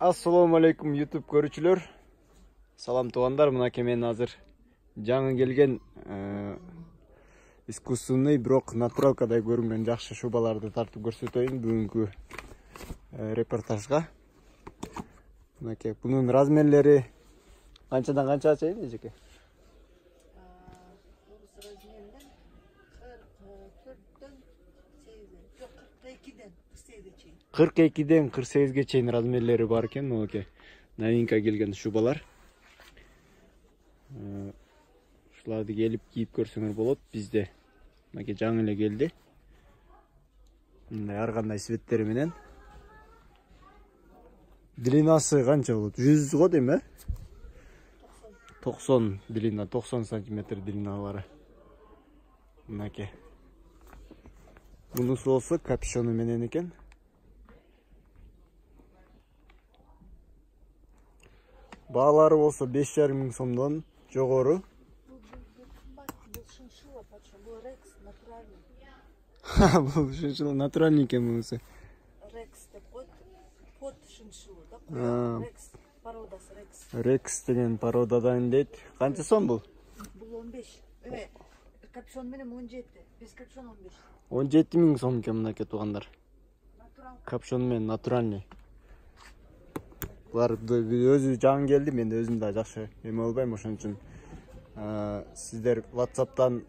Assalamu alaikum YouTube көрүүчүлөр. Салам туугандар, мынакей мен азыр жаңы келген искусственный, бирок натуралкадай көрүнгөн жакшы шубаларды тартып көрсөтөйүн бүгүнкү репортажга. Мынакей бунун размерлери канчадан канчага чейин эжеке? 42ден 48ге чейин размерлери бар экен. Мынакей новинка келген шубалар. Ушуларды келип кийип көрсөңөр болот. Бизде мынакей жаңы эле келди. Мындай ар кандай светтери менен. Длинасы канча болот? 100 го дейм, 90 длина, 90 сантиметр длиналары. Мынакей. Бунусу болсо капюшону менен экен. Баалары болсо 5,5 миң сомдон жогору. Бул шиншилла натуральный экен бунусу. Рекс деп коет. Под шиншилла да. Рекс породасы Рекс. Рекс деген породадан дейт. Канча сом бул? Бул 15. Капюшон менен 17. Без капюшон 15. 17 миң сом экен мынакей туугандар. Капюшон менен натуральный. Булар өзү жаңы келди, мен өзүм да жакшы эме албайм, ошон үчүн сиздер WhatsApp'тан,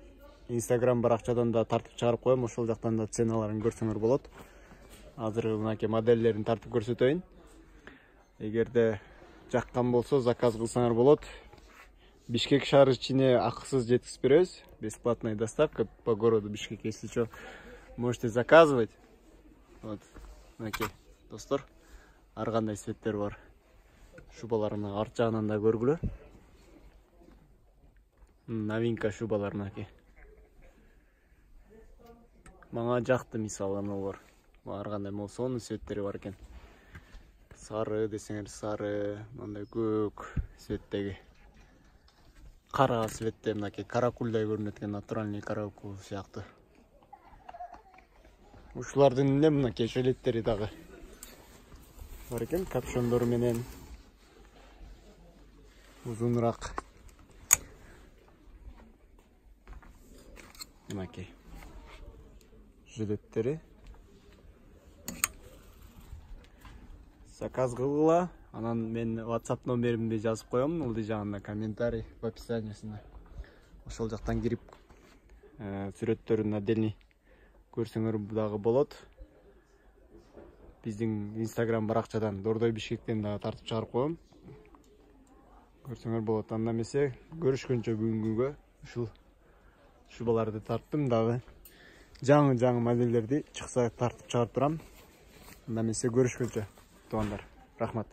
Instagram баракчадан да тартып чыгарып коем, ошол жактан да ценаларын көрсөңөр болот. Азыр мынакей моделдерин тартып көрсөтөйүн. Эгерде жаккан болсо заказ кылсаңар болот. Бишкек шаары ичине акысыз жеткизип беребиз. Бесплатная доставка по городу Бишкек. Если что, можете заказывать. Вот, мынакей достор, ар кандай светтер бар. Шубаларны арт жагынан да көргүлө. Новинка шубалар мынакей. Мага жакты, мисалы, бар. Ар кандай молсонун светтери бар экен. Сары десеңер сары, мындай көк светтеги. Кара светте мынакей каракулдай көрүнөт экен, натуральный каракул сыяктуу. Ушулардын эле мынакей жилеттери дагы бар экен, капюшондору менен узунураак. Мынакей жилеттери. Заказ кылгыла. Анан мен WhatsApp номеримди жазып коем, ылдый жагында комментарий в описаниясында. Ошол жактан кирип сүрөттөрүн отдельный көрсөңөр дагы болот. Биздин Instagram баракчадан Дордой Бишкектен дагы тартып чыгарып коем. Көрсөңөр болот. Анда эмесе көрүшкөнчө бүгүнгүгө ушул шубаларды тарттым, дагы жаңы модельдерди чыкса тартып чыгарып турам. Анда эмесе көрүшкөнчө туугандар. Рахмат.